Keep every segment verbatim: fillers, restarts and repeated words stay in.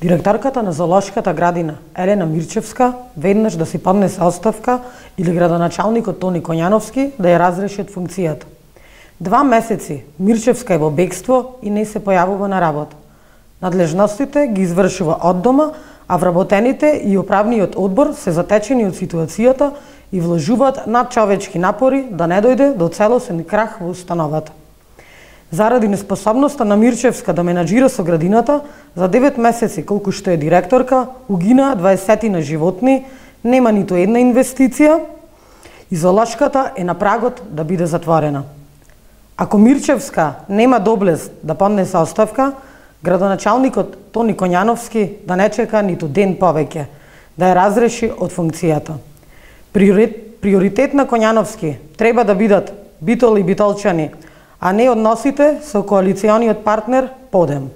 Директорката на Зоолошката градина Елена Мирчевска веднаш да си поднесе оставка или градоначалникот Тони Коњановски да ја разреши од функцијата. Два месеци Мирчевска е во бегство и не се појавува на работа. Надлежностите ги извршува од дома, а вработените и управниот одбор се затечени од ситуацијата и вложуваат надчовечки напори да не дојде до целосен крах во установата. Заради неспособноста на Мирчевска да менаџира со градината, за девет месеци колку што е директорка, угинаа дваесет животни, нема ниту една инвестиција и Зоолошката е на прагот да биде затворена. Ако Мирчевска нема доблест да поднесе оставка, градоначалникот Тони Коњановски да не чека ниту ден повеќе, да ја разреши од функцијата. Приоритет на Коњановски треба да бидат Битол и Битолчани, а не односите со коалициониот партнер Подем.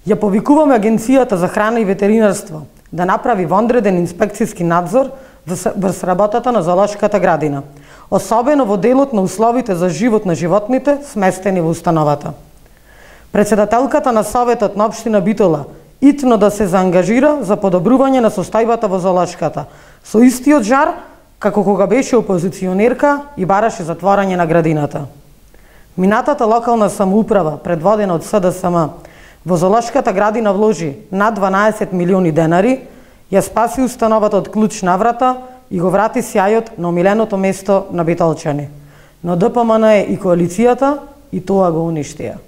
Ја повикуваме Агенцијата за храна и ветеринарство да направи вонреден инспекцијски надзор врз работата на Зоолошката градина, особено во делот на условите за живот на животните сместени во установата. Председателката на Советот на општина Битола итно да се заангажира за подобрување на состојбата во Зоолошката, со истиот жар како кога беше опозиционерка и бараше затворање на градината. Минатата локална самоуправа, предводена од С Д С М, во Зоолошката градина вложи над дванаесет милиони денари, ја спаси установата од клуч на врата и го врати сјајот на омиленото место на Битолчани. Но Д П М Н и коалицијата и тоа го уништија.